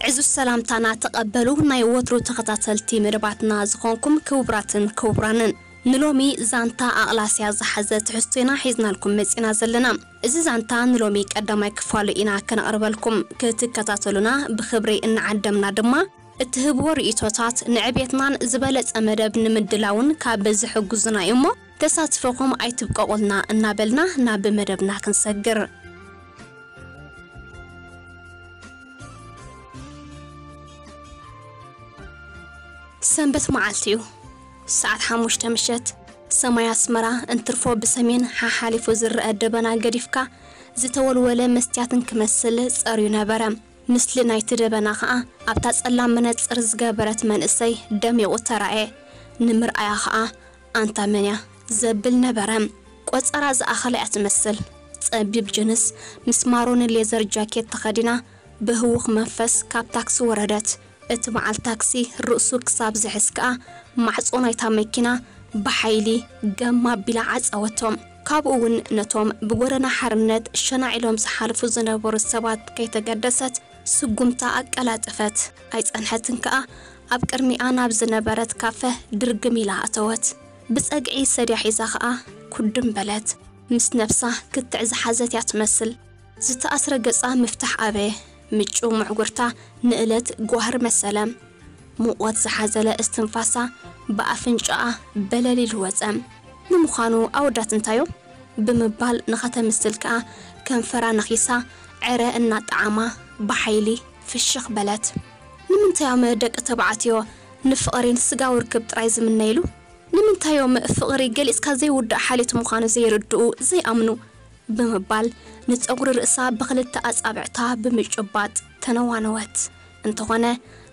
እዚ ሰላምታና ተቐበሉ፣ ናይ ወትሩ ተኸታተልቲ መደባትና ዝኾንኩም ክቡራትን ክቡራንን። ንሎሚ ዛንታ ኣቕላስያ ዝሓዘ ትሕዝቶ ኢና ሒዝናልኩም መጺና ዘለና። እዚ ዛንታ ንሎሚ ቀዳማይ ክፋሉ ኢና ከነቕርበልኩም። ክትከታተሉና ብኽብሪ እናዓደምና ድማ፣ እትህብዎ ርእይቶታት ንዕቤትናን ዝበለጸ መደብ ንምድላውን ካብ ዝሕግዙና እዩ እሞ፣ ተሳትፎኹም ኣይትብቀቑልና እናበልና ናብ መደብና ክንሰግር። ሰንበት መዓልቲ እዩ። ሰዓት ሓሙሽተ ምሸት። ሰማይ ኣስመራ እንትርፎ ብሰሜን ሓሓሊፉ ዝረአ ደበና ገዲፍካ፣ ዝተወልወለ መስትያትን ክመስል ጸርዩ ነበረ። ምስሊ ናይቲ ደበና ኸኣ ኣብታ ጸላም መነጽር ዝገበረት መንእሰይ ደሚቑ ተራእየ። ንምርኣያ ኸኣ ኣንታ መን እያ ዘብል ነበረ። ቆጸራ ዝኣኸለ እያ ትመስል። ጸቢብ ጅንስ ምስ ማሮን ሌዘር ጃኬት ተኸዲና ብህዉኽ መንፈስ ካብ ታክሲ ወረደት። እቲ በዓል ታክሲ ርእሱ ክሳብ ዝሕዝ ከኣ ማዕጾ ናይታ መኪና ብሓይሊ ገም ኣቢላ ዓጸወቶ። ካብኡ እውን ነቶም ብጎደና ሓርነት ሸናዕ ኢሎም ዝሓልፉ ዝነበሩ ሰባት ከይተገደሰት ስጉምታ ኣቀላጠፈት። ኣይጸንሐትን ከኣ ኣብ ቅድሚኣ ናብ ዝነበረት ካፈ ድርግም ኢላ ኣተወት። ብጸግዒ ሰድያ ሒዛ ከኣ ኩድም በለት። ምስ ነብሳ ክትዕ ዝሓዘት እያ ትመስል። ዝተኣስረ ገጻ ምፍታሕ ኣበየ። ምጩው ምዕጉርታ ንእለት ጓህሪ መሰለ። ሙቐት ዝሓዘለ እስትንፋሳ ብኣፍንጫኣ በለል ኢሉ ወጸ። ንምዃኑ ኣወዳት እንታዮም? ብምባል ንኸተምስል ከኣ ከንፈራ ነኺሳ ዕረ እናጠዓማ ብሓይሊ ፍሽኽ በለት። ንምንታዮም ደቂ ተባዕትዮ ንፍቕሪን ስጋዊ ርክብ ጥራይ ዝምነይሉ? ንምንታዮም ፍቕሪ ገሊጽካ ዘይውዳእ ሓልዮት ምዃኑ ዘይርድኡ፣ ዘይኣምኑ? ብምባል ንጸጉሪ ርእሳ ብኽልተ ኣጻብዕታ ብምጭባጥ ተነዋነወት። እንተኾነ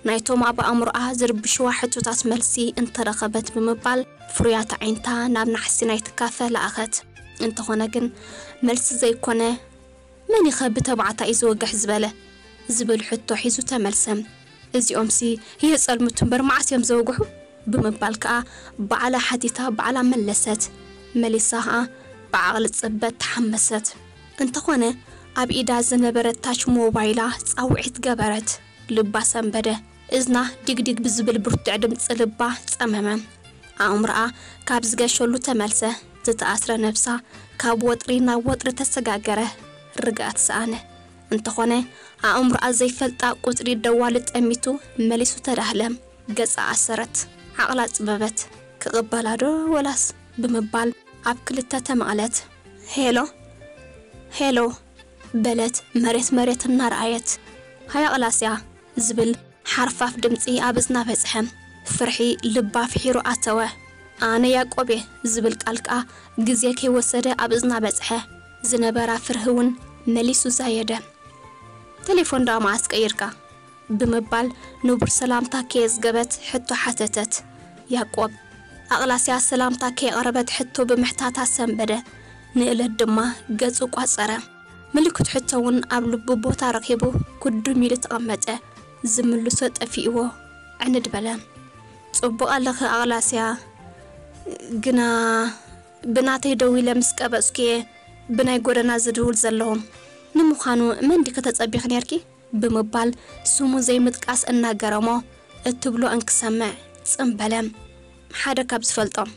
ናይቶም ኣብ ኣእምሮኣ ዝርብሽዋ ሕቶታት መልሲ እንተረኸበት ብምባል ፍሩያት ኣዒንታ ናብ ናሕሲ ናይቲ ካፈ ለኣኸት። እንተኾነ ግን መልሲ ዘይኮነ፣ መን ኢኸ ብተባዕታይ እዩ ዝወግሕ ዝበለ? ዝብል ሕቶ ሒዙ ተመልሰ። እዚኦምሲ የጸልምቱ እምበር መዓስ እዮም ዘወግሑ? ብምባል ከኣ ባዕላ ሓቲታ ባዕላ መለሰት። መሊሳ ከኣ ብዓቕሊ ጽበት ተሓመሰት። እንተኾነ ኣብ ኢዳ ዝነበረት ታች ሞባይላ ጻውዒት ገበረት። ልባ ሰንበደ። እዝና ዲግዲግ ብዝብል ብርቱዕ ድምጺ ልባ ጸመመ። ኣእምሮኣ ካብ ዝገሸሉ ተመልሰ። ዝተኣስረ ነብሳ ካብ ወጥሪ ናብ ወጥሪ ተሰጋገረ። ርግኣት ሰኣነ። እንተኾነ ኣእምሮኣ ዘይፈልጣ ቁጽሪ ደዋሊ ጠሚቱ መሊሱ ተዳህለ። ገጻ ኣሰረት። ዓቕላ ጽበበት። ክቕበላ ዶ ወላስ? ብምባል ኣብ ክልተ ተመቕለት። ሄሎ፣ ሄሎ በለት መሬት መሬት እናረኣየት። ሃያ ኣቕላስያ ዝብል ሓርፋፍ ድምጺ ኣብ እዝና በጽሐ። ፍርሒ ልባ ፍሒሩ ኣተወ። ኣነ ያቆብ እየ ዝብል ቃል ከኣ ግዜ ከይወሰደ ኣብ እዝና በጽሐ። ዝነበራ ፍርሂ እውን መሊሱ ዛየደ። ቴሌፎን ደኣ መዓስ ቀይርካ? ብምባል ንቡር ሰላምታ ከየዝገበት ሕቶ ሓተተት። ያቆብ ኣቕላስያ ሰላምታ ከየቕረበት ሕቶ ብምሕታታ ሰንበደ። ንእለት ድማ ገጹ ቋጸረ። ምልክት ሕቶ እውን ኣብ ልቡ ቦታ ረኺቡ ኩድም ኢሉ ተቐመጠ። ዝምልሶ ጠፊእዎ ዕንድ በለ። ጽቡቕ ኣለኺ ኣቕላስያ፣ ግና ብናተይ ደዊለ ምስ ቀበጽኩ እየ ብናይ ጎደና ዝድውል ዘለኹ። ንምዃኑ መን ዲኺ ተጸቢኺ ኔርኪ? ብምባል ስሙ ዘይምጥቃስ እናገረሞ እትብሎ እንክሰምዕ ጽም በለ። ሓደ ካብ ዝፈልጦም።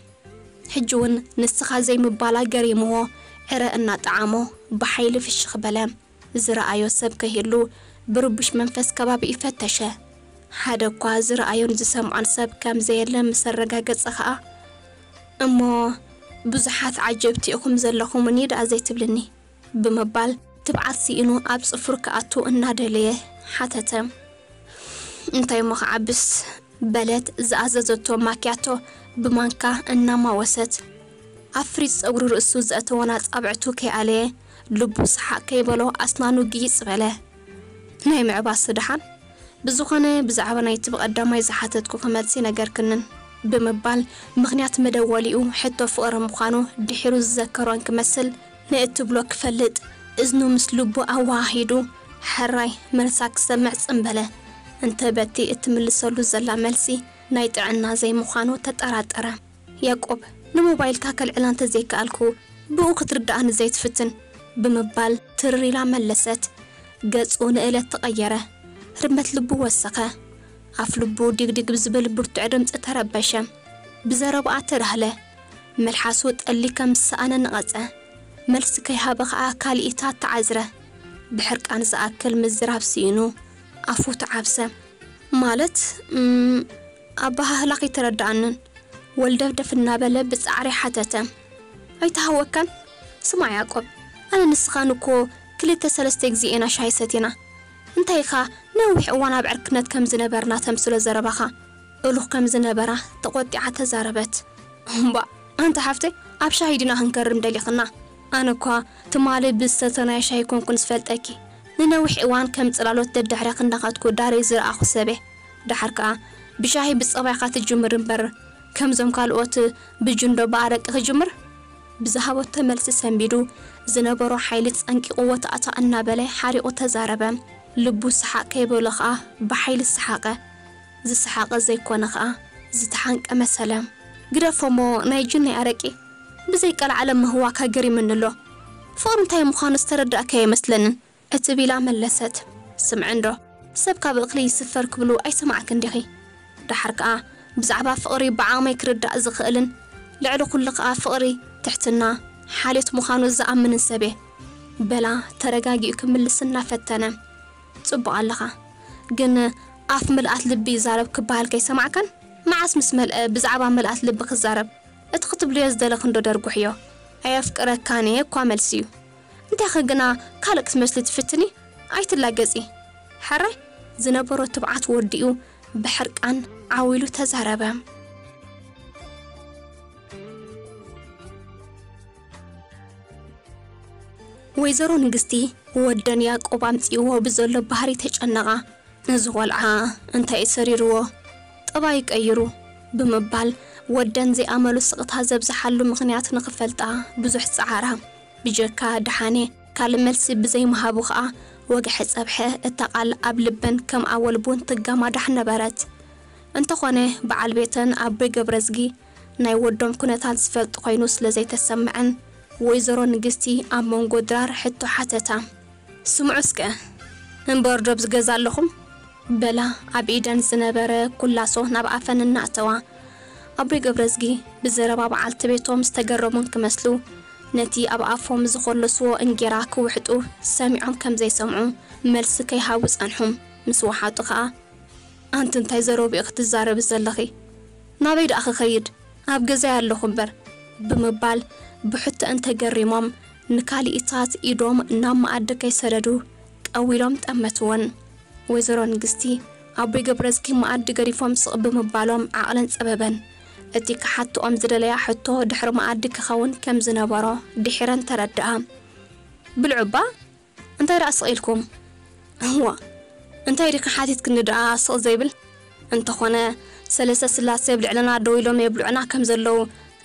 ሕጂ እውን ንስኻ ዘይምባላ ገሪምዎ ዕረ እናጠዓሞ ብሓይሊ ፍሽኽ በለ። ዝረኣዮ ሰብ ከይህሉ ብርቡሽ መንፈስ ከባቢ ይፈተሸ። ሓደ እኳ ዝረኣዮን ዝሰምዖን ሰብ ከም ዘየለ ምስ ኣረጋገጸ ኸኣ፣ እሞ ብዙሓት ዓጀብቲ ኢኹም ዘለኹምኒ ደኣ ዘይትብልኒ? ብምባል ትብዓት ስኢኑ ኣብ ጽፍሩ ክኣቱ እናደለየ ሓተተ። እንታይ እሞ ክዓብስ? በለት ዝኣዘዘቶ ማክያቶ ብማንካ እናማወሰት። ኣብ ፍሪዝ ጸጉሪ ርእሱ ዘእተወን ኣጻብዕቱ ከይኣለየ፣ ልቡ ሰሓቕ ከይበሎ ኣስናኑ ግይጽ በለ። ናይ ምዕባስ ደሓን? ብዝኾነ ብዛዕባ ናይቲ ብቐዳማይ ዝሓተትኩኺ መልሲ ነገርክንን ብምባል ምኽንያት መደወሊኡ ሕቶ ፍቕሪ ምዃኑ ድሒሩ ዝዘከሮ እንክመስል ንእትብሎ ክፈልጥ እዝኑ ምስ ልቡ ኣወሃሂዱ ሕራይ መልሳ ክሰምዕ ጽም በለ። እንተ በቲ እትምልሰሉ ዘላ መልሲ ናይ ጥዕና ዘይምዃኑ ተጠራጠረ። ያቆብ፣ ንሞባይልካ ከልዕላ እንተ ዘይከኣልኩ ብኡ ክትርድኣኒ ዘይትፍትን ብምባል ትርር ኢላ መለሰት። ገጹ ንእለት ተቐየረ። ህርመት ልቡ ወሰኸ። ኣፍ ልቡ ዲግዲግ ብዝብል ብርቱዕ ድምፂ ተረበሸ። ብዘረባኣ ተዳህለ። መልሓሱ ጠሊ ከም ዝሰኣነ ነቐጸ። መልሲ ከይሃበ ኸኣ ካልኢታት ተዓዝረ። ብሕርቃን ዝኣክል ምዝራብ ስኢኑ ኣፉ ተዓብሰ። ማለት፣ እም፣ ኣበሃህላኺ ተረዳኣንን። ወልደፍደፍ እናበለ ብጻዕሪ ሓተተ። ኣይተሃወካን? ስማዕ ያዕቆብ፣ ኣነ ንስኻን እኮ ክልተ ሰለስተ ግዜ ኢና ሻሂ ሰቲና። እንታይ ኢኻ ነዊሕ እዋን ኣብ ዕርክነት ከም ዝነበርና ተምስሎ ዘረባኻ? እሉኽ ከም ዝነበራ ተቖጢዓ ተዛረበት። እምባእ፣ ኣንቲ ሓፍተይ፣ ኣብ ሻሂ ዲና ክንከርም ደሊኽና? ኣነ እኳ ትማሊ ብዝሰተናዮ ሻሂ ኮንኩን ዝፈልጠኪ። ንነዊሕ እዋን ከም ጽላሎት ደድሕረኺ እንዳኸድኩ ዳረይ ዝረኣኹ ሰበ። ደሓር ከኣ ብሻሂ ብጸባይካ ትጅምር እምበር፣ ከምዞም ካልኦት ብጅንዶ ብኣረቂ ክጅምር? ብዝሃበቶ መልሲ ሰንቢዱ ዝነበሮ ሓይሊ ጸንቂቑዎ ተኣታ እናበለ ሓሪቑ ተዛረበ። ልቡ ሰሓቕ ከይበሎ ከኣ ብሓይሊ ሰሓቐ። ዝሰሓቐ ዘይኮነ ከኣ ዝተሓንቀ መሰለ። ግደፎ እሞ ናይ ጅን ናይ ኣረቂ ብዘይ ቀልዓለም ምህዋካ ገሪምኒ ኣሎ። ፍቕሪ እንታይ ምዃኑ ዝተረዳእካዮ ኣይመስለንን። እትብ ኢላ መለሰት። ስምዒ እንዶ፣ ሰብ ካብ እኽሊ ይስፈር ክብሉ ኣይሰማዕክን ዲኺ? ደሓር ከኣ ብዛዕባ ፍቕሪ ብዓቕመይ ክርዳእ ዝኽእልን ልዕሊ ኩሉ ከኣ ፍቕሪ ትሕትና ሓልዮት ምዃኑ ዝኣምንን ሰብ እየ። በላ ተረጋጊኡ ክምልስ እናፈተነ። ጽቡቕ ኣለኻ፣ ግን ኣፍ ምልኣት ልቢ ይዛረብ ክበሃል ከይሰማዕካን? መዓስ ምስ መልአ ብዛዕባ ምልኣት ልቢ ክዛረብ? እቲ ክትብልዮ ዝደለኺ እንዶ ደርጉሕዮ። ኣየፍቅረካን እየ እኳ መልሲ እዩ። እንታይኺ ግና ካልእ ክትመስሊ ትፍትኒ? ኣይትላገጺ። ሕራይ ዝነበሮ ትብዓት ወዲኡ ብሕርቃን ዓው ኢሉ ተዛረበ። ወይዘሮ ንግስቲ ወደን ያዕቆብ ኣምጺእዎ ብዘሎ ባህሪ ተጨነቓ። እዚ ቆልዓ እንታይ እዩ ሰሪርዎ? ጠባይ ቀይሩ ብምባል ወደን ዘይኣመሉ ስቕታ ዘብዝሓሉ ምኽንያት ንኽፈልጣ ብዙሕ ጸዓራ። ብጀካ ደሓነ ካልእ መልሲ ብዘይምሃቡ ኸኣ ወግሐ ጸብሐ። እታ ቃል ኣብ ልበን ከም ኣወል ቡን ትጋማዳሕ ነበረት። እንተኾነ በዓል ቤተን ኣቦይ ገብረዝጊ ናይ ወዶም ኩነታት ዝፈልጥ ኮይኑ ስለ ዘይተሰምዐን፣ ወይዘሮ ንግስቲ ኣብ መንጎ ድራር ሕቶ ሓተታ። ስምዑ እስከ፣ እምበር ዶ ኣብዚ ገዛ ኣለኹም? በላ ኣብ ኢደን ዝነበረ ኩላሶ ናብ ኣፈን እናእተዋ። ኣቦይ ገብረዝጊ ብዘረባ በዓልቲ ቤቶም ዝተገረሙን ክመስሉ፣ ነቲ ኣብ ኣፎም ዝኾለስዎ እንጌራ ክውሕጡ ሰሚዖም ከም ዘይሰምዑ መልሲ ከይሃቡ ጸንሑ። ምስ ወሓጡ ኸኣ፣ ኣንቲ እንታይ ዘረብኡ ክትዛረቢ ዘለኺ? ናበይ ደኣ ክኸይድ? ኣብ ገዛይ ኣለኹ እምበር፣ ብምባል ብሕቶአን ተገሪሞም ንካልኢታት ኢዶም ናብ መኣዲ ከይሰደዱ ቀዊሎም ጠመትወን። ወይዘሮ ንግስቲ ኣቦይ ገብረዝጊ መኣዲ ገዲፎም ስቕ ብምባሎም ዓቕለን ጸበበን። እቲ ክሓትኦም ዝደለያ ሕቶ ድሕሪ መኣዲ ክኸውን ከም ዝነበሮ ድሒረን ተረድኣ። ብልዑ እባ እንታይ ደኣ ስቕ ኢልኩም? እዋ፣ እንታይ ዲኺ ሓቲትክኒ ደኣ ስቕ ዘይብል? እንተኾነ፣ ሰለስተ ስላሴ ኣብ ልዕለና ደው ኢሎም የብልዑና ከም ዘለዉ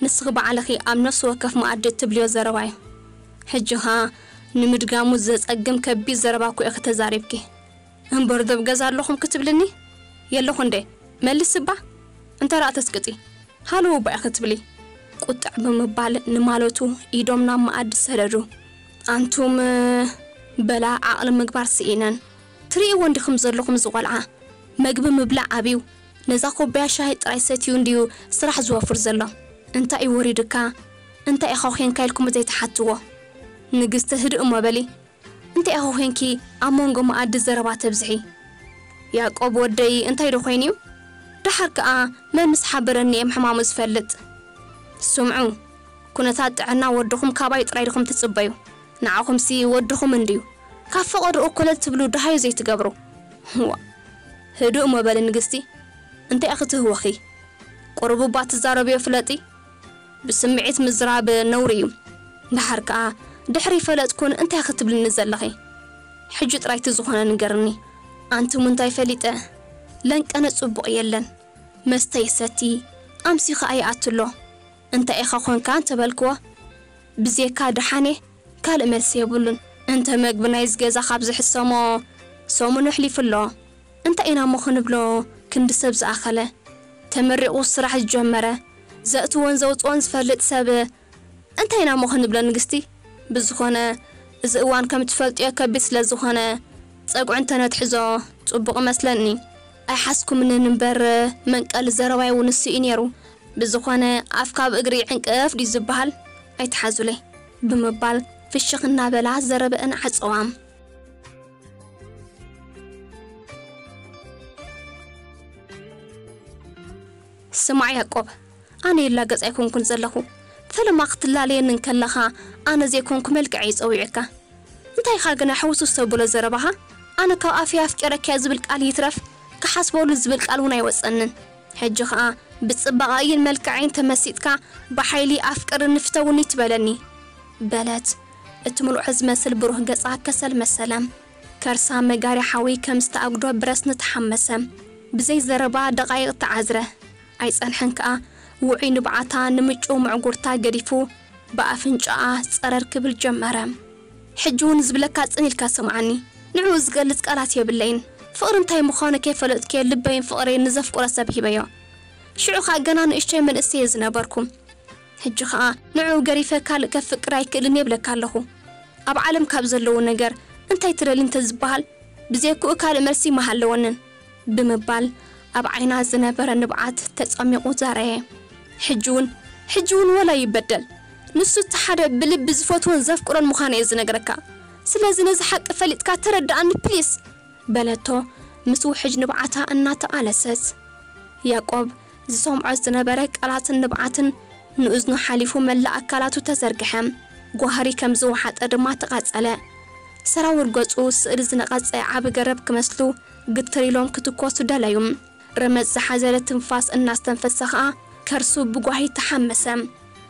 ንስኺ ባዕልኺ ኣብ ነፍሲ ወከፍ መኣዲ እትብልዮ ዘረባ እዩ። ሕጂ ኸኣ ንምድጋሙ ዘጸግም ከቢድ ዘረባ እኮ ኢኺ ተዛሪብኪ። እምበር ዶ ኣብ ገዛ ኣለኹም ክትብልኒ? የለኹ እንዴ? መልስ እባ። እንታይ ደኣ ተስቅጢ? ሃለዉ እባ ኢኺ ትብሊ። ቁጥዕ ብምባል ንማለቱ ኢዶም ናብ መኣዲ ሰደዱ። ኣንቱም፣ በላ ዓቕሊ ምግባር ስኢነን። ትርእይዎ እንዲኹም ዘለኹም እዚ ቆልዓ። መግቢ ምብላዕ ኣብዩ። ነዛ ኩባያ ሻሂ ጥራይ ሰትዩ እንድዩ ስራሕ ዝወፍር ዘሎ። እንታይ እዩ ወሪዱካ? እንታይ ኢኻ ኾንካ ኢልኩም ዘይትሓትዎ? ንግስቲ ህድእ እሞ በሊ። እንታይ ኢኺ ኾንኪ ኣብ መንጎ መኣዲ ዘረባ ተብዝሒ? ያዕቆብ ወደይ እንታይ ዶ ኮይኑ እዩ? ደሓር ከኣ መን ምስ ሓበረኒ እየ ምሕማሙ ዝፈልጥ? ስምዑ፣ ኩነታት ጥዕና ወድኹም ካባይ ጥራይ ዲኹም ትጽበዩ? ንዓኹምሲ ወድኹም እንድዩ። ካብ ፈቐድኡ ኮለል ትብሉ ደሃዩ ዘይትገብሩ። ዋ፣ ህዱእ እሞ በሊ ንግስቲ፣ እንታይ ኢኺ ትህወኺ? ቁሩብ እባ ትዛረብዮ ፍለጢ። ብስምዒት ምዝራብ ነውሪ እዩ። ደሓር ከኣ ድሕሪ ፈለጥኩን እንታይ ክትብልኒ ዘለኺ? ሕጂ ጥራይ እቲ ዝኾነ ንገርኒ። ኣንቱም እንታይ ፈሊጠ? ለንቀነ ጽቡቕ የለን። መስተ ይሰቲ፣ ኣምሲ ከኣ ይኣትሎ። እንታይ ኢኻ ኾንካ እንተበልክዎ፣ ብዜካ ደሓኔ ካልእ መልሲ የብሉን። እንተ መግቢ ናይዚ ገዛ ካብ ዝሕሰሞ ሰሙን ኣሕሊፉ ኣሎ። እንታይ ኢና እሞ ክንብሎ? ክንዲ ሰብ ዝኣኸለ፣ ተመሪቑ ስራሕ ዝጀመረ፣ ዘእትዎን ዘውፅኦን ዝፈልጥ ሰብ እንታይ ኢና እሞ ክንብሎ ንግስቲ? ብዝኾነ፣ እዚ እዋን ከም ትፈልጥዮ ከቢድ ስለ ዝኾነ፣ ጸጉዑ እንተነትሕዞ ጽቡቕ እመስለኒ። ኣይሓስኩምንን እምበር መንቀሊ ዘረባይ እውን እሱ እዩ ነይሩ። ብዝኾነ ኣፍ ካብ እግሪ ይዕንቀፍ ድዩ ዝበሃል? ኣይትሓዙለይ ብምባል ፍሽኽ እናበላ ዘረበአን ዓጸዋ። ስማዕ ያቆብ፣ ኣነ ይላገጽ ኣይኮንኩን ዘለኹ። ፈለማ ክትላለየኒ እንከለኻ ኣነ ዘይኮንኩ መልክዐይ ጸዊዕካ። እንታይ ኢኻ ግና ሕውስውስ ተብሎ ዘረባኻ? ኣነ ካብ ኣፈይ ኣፍቂረኪ እየ ዝብል ቃል ይትረፍ ክሓስበሉ ዝብል ቃል እውን ኣይወጸንን። ሕጂ ኸኣ ብጽባቐይን መልክዐይን ተመሲጥካ ብሓይሊ ኣፍቅርኒ ፍተውኒ ትበለኒ በለት። እቲ ምሉዕ ዝመስል ብሩህ ገጻ ከሰል መሰለ። ከርሳ መጋሪ ሓዊ ከም ዝተኣጉዶ ብረስኒ ተሓመሰ። ብዘይ ዘረባ ደቓይቕ ተዓዝረ። ኣይጸንሐን ከኣ ውዑይ ንብዓታ ንምጩ ምዕጉርታ ገዲፉ ብኣፍንጫኣ ጸረር ክብል ጀመረ። ሕጂ እውን ዝብለካ ጽን ኢልካ ስምዓኒ። ንዕኡ ዝገልጽ ቃላት የብለይን። ፍቕሪ እንታይ ምዃኑ ከይፈለጥኩ ልበይን ፍቕረይን ንዘፍቅሮ ሰብ ሂበዮ። ሽዑ ኸኣ ገና ንእሽቶይ መንእሰይ እየ ዝነበርኩ። ሕጂ ኸኣ ንዕኡ ገሪፈ ካልእ ከፍቅር ኣይክእልን የብለካ ኣለኹ። ኣብ ዓለም ካብ ዘለዉ ነገር እንታይ ትደሊ እንተዝበሃል ብዘይክኡ ካልእ መልሲ ምሃለወንን ብምባል ኣብ ዓይና ዝነበረ ንብዓት ተጸሚቑ ዛረየ። ሕጂ እውን ሕጂ እውን ወላ ይበደል ንሱ እቲ ሓደ ብልቢ ዝፈትዎን ዘፍቅሮን ምዃኑ እየ ዝነግረካ። ስለዚ ነዚ ሓቂ ፈሊጥካ ተረድኣኒ ፕሊስ በለቶ ምስ ውሕጅ ንብዓታ እናተቓለሰት። ያቆብ ዝሰምዖ ዝነበረ ቃላትን ንብዓትን ንእዝኑ ሓሊፉ መላእ ኣካላቱ ተዘርግሐ። ጓህሪ ከም ዝወሓጠ ድማ ተቓጸለ። ሰራውር ገጹ ስእሊ ዝነቐጸ ዓቢ ገረብ ክመስሉ ግትር ኢሎም ክትኮሱ ደለዩ። ረመጽ ዝሓዘለ ትንፋስ እናስተንፈሰ ኸኣ ከርሱ ብጓሂ ተሓመሰ።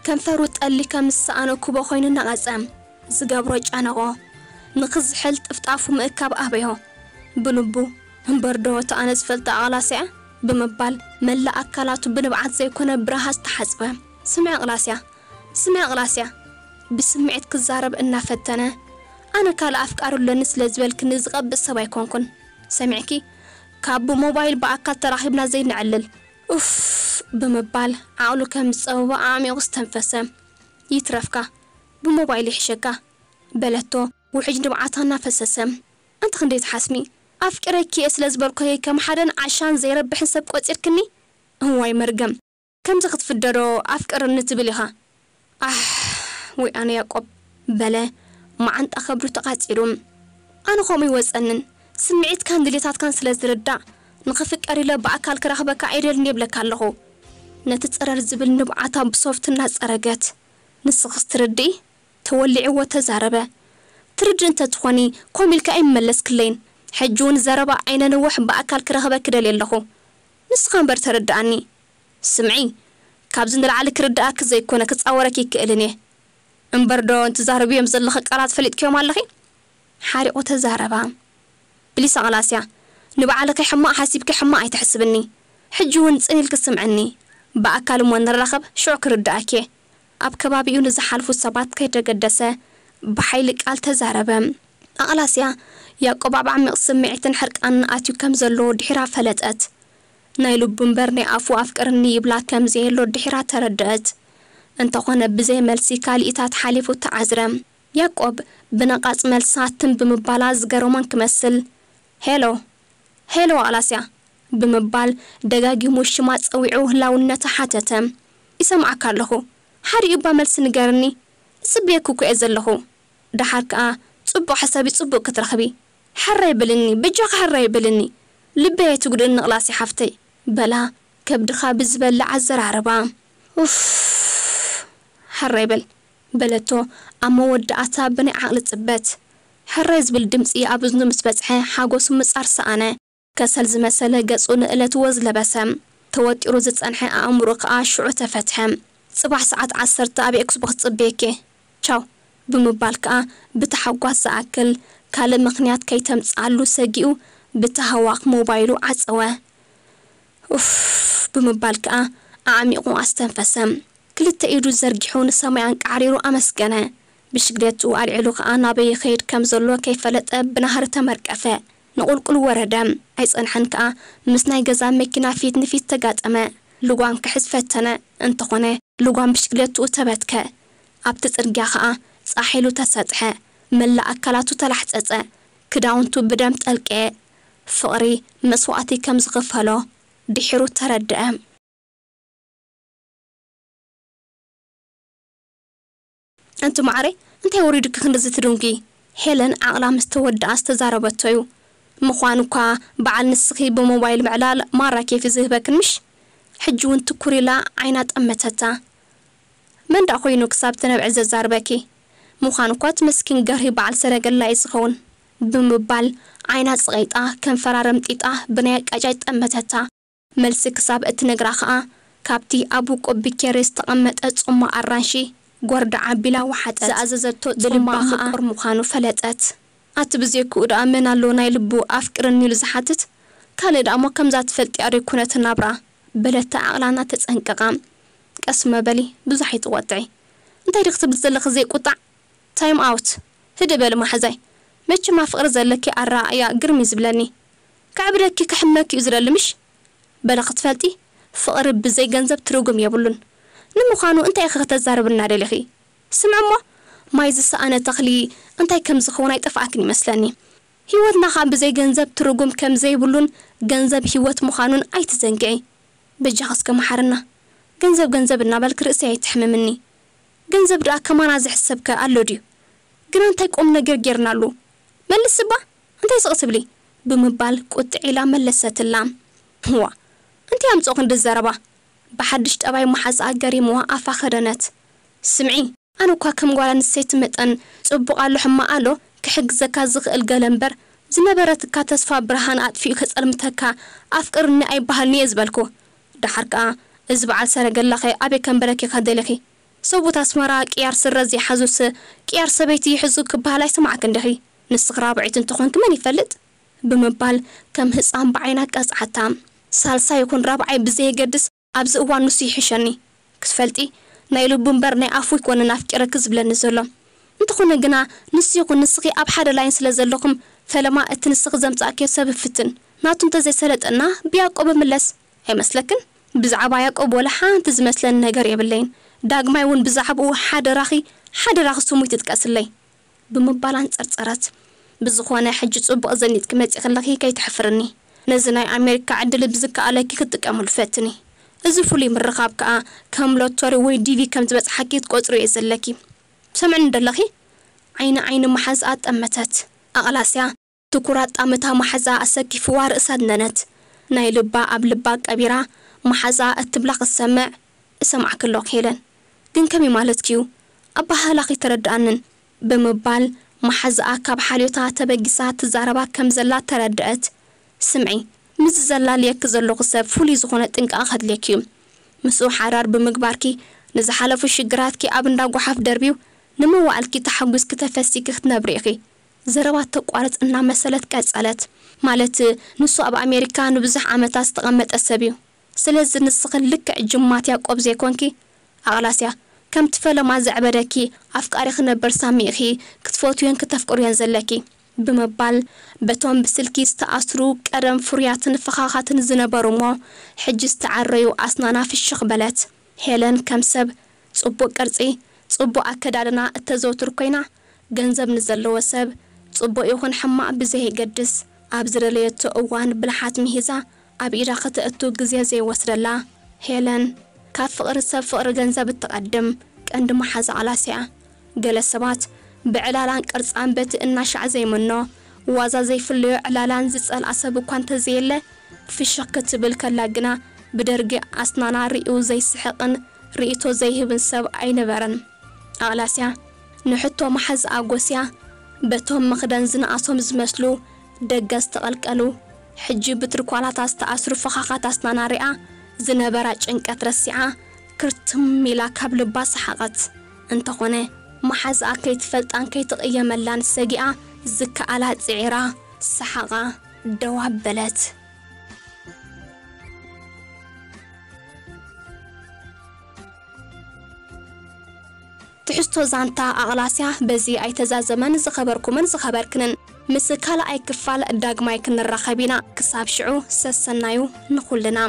ከንፈሩ ጠሊ ከም ዝሰኣኖ ኩቦ ኮይኑ ነቐጸ። ዝገብሮ ጨነቖ። ንኽዝሕል ጥፍጣፉ ምእካብ ኣበዮ። ብልቡ እምበርዶ እታ ኣነ ዝፈልጣ ኣቕላስያ ብምባል መላእ ኣካላቱ ብንብዓት ዘይኮነ ብረሃጽ ተሓጽበ። ስምዒ ኣቕላስያ፣ ስምዒ ኣቕላስያ። ብስምዒት ክዛረብ እናፈተነ ኣነ ካልእ ኣፍቃሪ ኣለኒ ስለ ዝበልክኒ ዝቐብእ ሰብ ኣይኮንኩን። ሰሚዕኪ? ካብ ብሞባይል ብኣካል ተራኺብና ዘይነዕልል። ኡፍ ብምባል ዓቕሉ ከም ዝጸበቦ ኣዕሚቑ ዝተንፈሰ። ይትረፍካ፣ ብሞባይል ይሕሸካ በለቶ ውሕጅ ንብዓታ እናፈሰሰ። ኣንቲ ክንደይ ትሓስሚ? ኣፍቂረኪ እየ ስለ ዝበልኩኺ ከም ሓደን ዓሻን ዘይረብሕን ሰብ ቆጺርክኒ? እዋይ መርገም! ከምዚ ክትፍደዶ ኣፍቅርኒ ትብል ኢኻ? ኣሕ! ወይ ኣነ ያቆብ በለ መዓንጣ ከብዱ ተቓጺሩ። ኣነ ከምኡ ይወጸንን ስምዒትካን ድሌታትካን ስለ ዝርዳእ ንኽፍቀር ኢለ ብኣካል ክረኽበካ ኣይደልን የብለካ ኣለኹ። ነቲ ጸረር ዝብል ንብዓታ ብሶፍት እናጸረገት ንስኽስ ትርድኢ? ተወሊዕዎ ተዛረበ። ትርድእ እንተትኾኒ ኮም ኢልካ ኣይምመለስክለይን። ሕጂ እውን ዘረባ ኣይነንውሕ ብኣካል ክረኽበኪ ደልየ ኣለኹ። ንስኻ እምበር ተረድኣኒ። ስምዒ፣ ካብዚ ንላዕሊ ክርድኣኪ ዘይኮነ ክጻወረኪ ይክእልን እየ። እምበር ዶ እንትዛረብዮም ዘለኺ ቃላት ፈሊጥክዮም ኣለኺ? ሓሪቑ ተዛረባ። ፕሊስ ኣቕላስያ፣ ንባዕልኺ ሕማቕ ሓሲብኪ ሕማቕ ኣይትሕስብኒ። ሕጂ እውን ጽን ኢልኪ ስምዕኒ። ብኣካል እሞ ንራኸብ ሽዑ ክርድኣኪ እየ። ኣብ ከባቢኡ ንዝሓልፉ ሰባት ከይተገደሰ ብሓይሊ ቃል ተዛረበ። ኣቕላስያ ያቆብ ኣብ ዓሚቕ ስምዒትን ሕርቃንን ኣትዩ ከም ዘሎ ድሒራ ፈለጠት። ናይ ልቡ እምበር ናይ ኣፉ ኣፍቅርኒ ይብላ ከም ዘየሎ ድሒራ ተረደአት። እንተኾነ ብዘይ መልሲ ካልኢታት ሓሊፉ ተዓዝረ። ያቆብ ብነቓጽ መልሳ ትም ብምባላ ዝገረሞን ክመስል፣ ሄሎ፣ ሄሎ ኣቕላስያ ብምባል ደጋጊሙ ሽማ ጸዊዑ ህላውነታ ሓተተ። ይሰምዓካ ኣለኹ። ሓዲኡ እባ መልሲ ንገርኒ። ዝጽበየኪ እኮ እየ ዘለኹ። ደሓር ከኣ ጽቡቕ ሕሰቢ ጽቡቕ ክትረኽቢ። ሕራይ በልኒ፣ በጃኺ ሕራይ በልኒ። ልበይ ኣይትጉድእኒ ኣቕላስያ ሓፍተይ በላ ከብድኻ ብዝበልዕ ኣዘራርባ። ኡፍ፣ ሕራይ በል በለቶ ኣብ መወዳእታ ብናይ ዓቕሊ ጽበት። ሕራይ ዝብል ድምጺ ኣብ እዝኑ ምስ በጽሐ ሓጎሱ ምጻር ሰኣነ። ከሰል ዝመሰለ ገጹ ንእለት ወዝ ለበሰ። ተወጢሩ ዝጸንሐ ኣእምሮ ከኣ ሽዑ ተፈትሐ። ጽባሕ ሰዓት ዓሰርተ ኣብ ኤክስቦክስ ጽበየኪ። ቻው ብምባል ከኣ ብታሕጓስ ዝኣክል ካልእ ምኽንያት ከይተምጽኣሉ ሰጊኡ ብታህዋኽ ሞባይሉ ዓጸወ። ኡፍ ብምባል ከኣ ኣዕሚቑ ኣስተንፈሰ። ክልተ ኢዱ ዘርጊሑ ንሰማይ ኣንቃዕሪሩ ኣመስገነ። ብሽግለትኡ ኣልዒሉ ከኣ ናበይ ይኸይድ ከም ዘሎ ከይፈለጠ ብናህሪ ተመርቀፈ። ንቑልቁል ወረደ። ኣይጸንሐን ከኣ ምስ ናይ ገዛ መኪና ፊት ንፊት ተጋጠመ። ልጓም ክሕዝ ፈተነ። እንተኾነ ልጓም ብሽግለትኡ ተበትከ። ኣብቲ ጽርግያ ከኣ ጻሕ ኢሉ ተሰጥሐ። መላእ ኣካላቱ ተላሕጸጸ። ክዳውንቱ ብደም ጠልቀ። ፍቕሪ መስዋእቲ ከም ዝኽፈሎ ድሒሩ ተረድአ። ኣንቲ ማዕረይ፣ እንታይ ወሪዱኪ ክንድዚ ትድንጉዪ? ሄለን ዓቕላ ምስ ተወድኣ ዝተዛረበቶ እዩ። ምዃኑ እኳ በዓል ንስኺ ብሞባይል ምዕላል ማራ ኬፍ እዩ ዝህበክን ምሽ? ሕጂ እውን ትኩር ኢላ ዓይና ጠመተታ። መን ደኣ ኮይኑ ክሳብ ትነብዒ ዘዛርበኪ? ምዃኑ እኳ እቲ መስኪን ገርሂ በዓል ሰረገላ እዩ ዝኸውን፣ ብምባል ዓይና ጽቒጣ ከንፈራ ረምጢጣ ብናይ ኣቃጫጭ ጠመተታ። መልሲ ክሳብ እትነግራ ኸኣ፣ ካብቲ ኣብ ውቁብ ብኬሪ ዝተቐመጠ ጽማቕ ኣራንሺ ጎርዳ ኣቢላ ወሓጠት። ዝኣዘዘቶ ብልባ ጽማቕ ኸኣ ምቁር ምዃኑ ፈለጠት። ኣቲ ብዘይክኡ ደኣ መን ኣሎ ናይ ልቡ ኣፍቅርኒ ኢሉ ዝሓትት? ካልእ ደኣ እሞ ከምዛ ትፈልጢኣ ዶ ኣይኮነትን ናብራ? በለታ ዓቕላ እናተጸንቀቓ። ቀስ እሞ በሊ፣ ብዙሕ ኣይትቖጥዒ። እንታይ ዲኺ ትብሊ ዘለኺ ዘይቁጣዕ? ታይም ኣውት። ህድእ በሊ መሓዛይ። መቸም ኣብ ፍቕሪ ዘለኪ ኣረኣእያ ግርም እዩ ዝብለኒ። ከዕብደኪ ከሕመኪ እዩ ዝደሊ ምሽ? በሊ ክትፈልጢ፣ ፍቕሪ ብዘይ ገንዘብ ትርጉም የብሉን። ንምዃኑ እንታይ ኢኺ ከተዛርብና ደሊኺ? ስምዒ እሞ፣ ማይ ዝሰኣነ ተኽሊ እንታይ ከም ዝኸውን ኣይጠፍኣክን ይመስለኒ። ህይወትና ኸኣ ብዘይ ገንዘብ ትርጉም ከም ዘይብሉን ገንዘብ ህይወት ምዃኑን ኣይትዘንግዒ። በጃኺ እስከ መሓርና። ገንዘብ ገንዘብ እናበልኪ ርእሰይ ኣይትሕምምኒ። ገንዘብ ደኣ ከማና ዝሕሰብ ከ ኣሎ ድዩ? ግና እንታይ ቁም ነገር ጌርናሉ? መልስ እባ፣ እንታይ ስቕ ትብሊ? ብምባል ቁጥዕ ኢላ መለሰትላ። ዋ፣ እንታይ ኣምጽኦ ክንዲ ዘረባ? ብሓድሽ ጠባይ መሓዛኣ ገሪምዋ ኣፋ ከደነት። ስምዒ፣ ኣነ እኳ ከም ጓል ኣንስተይቲ መጠን ጽቡቕ ኣሎ ሕማቕ ኣሎ ክሕግዘካ ዝኽእል ገለ እምበር፣ ዝነበረትካ ተስፋ ብርሃን ኣጥፊኡ ከጸልምተካ ኣፍቅርኒ ኣይበሃልኒ እየ ዝበልኩ። ደሓር ከኣ እዚ በዓል ሰረገላኸ ኣበይ ከንበረኪ ከደሊኺ? ሰብኡት ኣስመራ ቅያር ስረ ዘይሓዙስ ቅያር ሰበይቲ ይሕዙ ክበሃል ኣይሰማዕክን ዲኺ? ንስኺ ራብዐይቲ እንተኾንኪ መን ይፈልጥ? ብምባል ከም ህጻን ብዓይና ቀጽዓታ። ሳልሳይ ይኹን ራብዓይ ብዘየገድስ ኣብዚ እዋን ንሱ ይሕሸኒ። ክትፈልጢ ናይ ልቡ እምበር ናይ ኣፉ ኣይኮነን ኣፍቂረኪ ዝብለኒ ዘሎ። እንተኾነ ግና ንሱ ይኹን ንስኺ ኣብ ሓደ ላይን ስለ ዘለኹም ፈለማ እቲ ንስኺ ዘምጻእክዮ ሰብ ይፍትን። ናቱ እንተዘይሰለጠና ብያዕቆብ እምለስ። ኣይመስለክን? ብዛዕባ ያዕቆብ ወላ ሓንቲ ዝመስለኒ ነገር የብለይን። ዳግማይ እውን ብዛዕባኡ ሓደራኺ፣ ሓደራኺ ስሙ ይትጥቀስለይ። ብምባል ኣንጸርጸረት። ብዝኾነ ሕጂ ጽቡቕ ዘኒጥኪ መጺእኺ ኣለኺ ከይተሕፍርኒ። ነዚ ናይ ኣሜሪካ ዕድል ብዝከኣለኪ ክትጥቀምሉ ፈትኒ። እዚ ፍሉይ ምርኻብ ከኣ ከም ሎቶሪ ወይ ዲቪ ከም ዝበጽሓኪ ክትቆጽርዮ እየ ዘለኪ። ትሰምዕኒ ዶ ኣለኺ? ዓይኒ ዓይኒ መሓዛኣ ጠመተት። ኣቕላስያ ትኩር ኣጣምታ መሓዛኣ ኣሰኪፍዋ ርእሳ ኣድነነት። ናይ ልባ ኣብ ልባ ቀቢራ መሓዛኣ እትብላ ክትሰምዕ፣ እሰምዓኪ ኣለኹ ሄለን። ግን ከመይ ማለትኪ እዩ? ኣበሃህላኺ ኣይተረድኣንን። ብምባል መሓዛኣ ካብ ሓልዮታ ተበጊሳ ትዛረባ ከም ዘላ ተረድአት። ስምዒ፣ ምስዚ ዘላልየኪ ዘለኹ ሰብ ፍሉይ ዝኾነ ጥንቃቐ ከድልየኪ እዩ። ምስኡ ሓዳር ብምግባርኪ ንዝሓለፉ ሽግራትኪ ኣብ እንዳ ጓሓፍ ደርብዩ ንመዋዕልኪ ተሓጒስኪ ተፈሲኪ ክትነብሪ ኢኺ። ዘረባ ተቋርጽ እናመሰለት ቀጸለት። ማለት ንሱ ኣብ ኣሜሪካ ንብዙሕ ዓመታት ዝተቐመጠ ሰብ እዩ። ስለዚ ንስኺ ልክዕ ጅማት ያዕቆብ ዘይኮንኪ፣ ኣቕላስያ፣ ከምቲ ፈለማ ዘዕበደኪ ኣፍቃሪ ክነበር ሳሚ ኢኺ ክትፈትውዮን ክተፍቅርዮን ዘለኪ። ብምባል በቶም ብስልኪ ዝተኣስሩ ቀደም ፍሩያትን ፈኻኻትን ዝነበሩ እሞ ሕጂ ዝተዓረዩ ኣስናና ፍሽኽ በለት። ሄለን ከም ሰብ ጽቡቕ ቅርጺ፣ ጽቡቕ ኣከዳድና እተዘውትር ኮይና፣ ገንዘብ ንዘለዎ ሰብ ጽቡቕ ይኹን ሕማቕ ብዘየገድስ ኣብ ዝደለየቶ እዋን ብልሓት ምሂዛ ኣብ ኢዳ ከተእቱ ግዜ ዘይወስደላ ሄለን፣ ካብ ፍቕሪ ሰብ ፍቕሪ ገንዘብ እትቐድም ቀንዲ መሓዛ ኣቕላስያ። ገለ ሰባት ብዕላላን ቅርጻን በቲ እናሻዕ ዘይምኖ ዋዛ ዘይፍለዮ ዕላላን ዝጸልኣ ሰብ እኳ እንተዘየለ፣ ፍሽኽ ክትብል ከላ ግና ብደርጊ ኣስናና ሪኡ ዘይስሕቕን ርእይቶ ዘይህብን ሰብ ኣይነበረን። ኣቕላስያ ንሕቶ መሓዛኣ ጎስያ በቶም መኽደን ዝነኣሶም ዝመስሉ ደገ ዝተቐልቀሉ፣ ሕጂ ብትርኳላታ ዝተኣስሩ ፈኻኻት ኣስናና ሪኣ ዝነበራ ጭንቀት ረሲዓ ክርትም ኢላ ካብ ልባ ሰሓቐት። እንተኾነ መሓዛኣ ከይትፈልጣን ከይትቕየመላን ሰጊኣ ዝከኣላ ጽዒራ ሰሓቓ ደው ኣበለት። ትሕዝቶ ዛንታ ኣቕላስያ በዚ ኣይተዛዘመን። ዝኸበርኩምን ዝኸበርክንን፣ ምስ ካልኣይ ክፋል ዳግማይ ክንራኸብ ኢና። ክሳብ ሽዑ ሰሰናዩ ንኹልና።